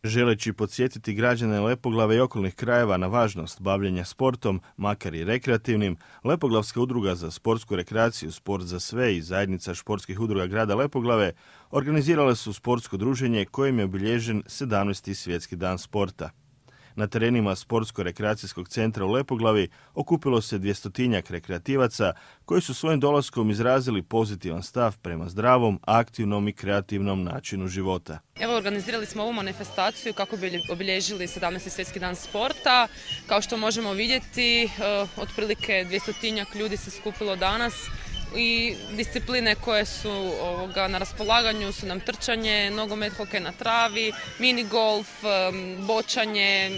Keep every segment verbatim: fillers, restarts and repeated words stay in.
Želeći podsjetiti građane Lepoglave i okolnih krajeva na važnost bavljenja sportom, makar i rekreativnim, Lepoglavska udruga za sportsku rekreaciju Sport za sve i zajednica športskih udruga grada Lepoglave organizirale su sportsko druženje kojim je obilježen sedamnaesti svjetski dan sporta. Na terenima Sportsko-rekreacijskog centra u Lepoglavi okupilo se dvjestotinjak rekreativaca koji su svojim dolaskom izrazili pozitivan stav prema zdravom, aktivnom i kreativnom načinu života. Evo, organizirali smo ovu manifestaciju kako bi obilježili sedamnaesti svjetski dan sporta. Kao što možemo vidjeti, otprilike dvjestotinjak ljudi se skupilo danas. I discipline koje su ovoga, na raspolaganju su nam trčanje, nogomet, hokej na travi, mini golf, bočanje,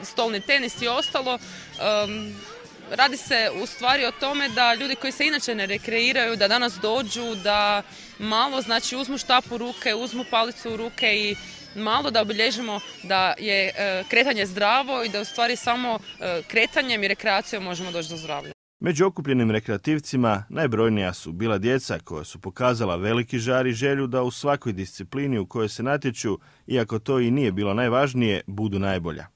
stolni tenis i ostalo. Um, radi se u stvari o tome da ljudi koji se inače ne rekreiraju, da danas dođu, da malo znači uzmu štap u ruke, uzmu palicu u ruke i malo da obilježimo da je kretanje zdravo i da u stvari samo kretanjem i rekreacijom možemo doći do zdravlja. Među okupljenim rekreativcima najbrojnija su bila djeca koja su pokazala veliki žar i želju da u svakoj disciplini u kojoj se natječu, iako to i nije bilo najvažnije, budu najbolja.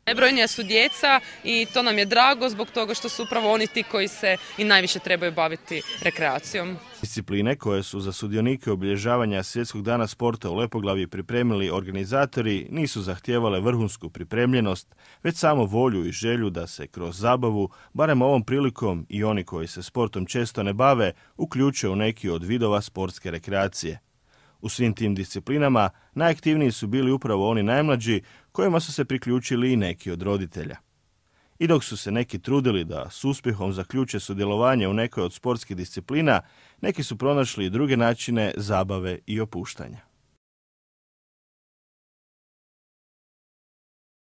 Najbrojnija su djeca i to nam je drago zbog toga što su upravo oni ti koji se i najviše trebaju baviti rekreacijom. Discipline koje su za sudionike obilježavanja Svjetskog dana sporta u Lepoglavi pripremili organizatori nisu zahtijevale vrhunsku pripremljenost, već samo volju i želju da se kroz zabavu, barem ovom prilikom i oni koji se sportom često ne bave, uključe u neki od vidova sportske rekreacije. U svim tim disciplinama najaktivniji su bili upravo oni najmlađi, kojima su se priključili i neki od roditelja. I dok su se neki trudili da s uspjehom zaključe sudjelovanje u nekoj od sportskih disciplina, neki su pronašli i druge načine zabave i opuštanja.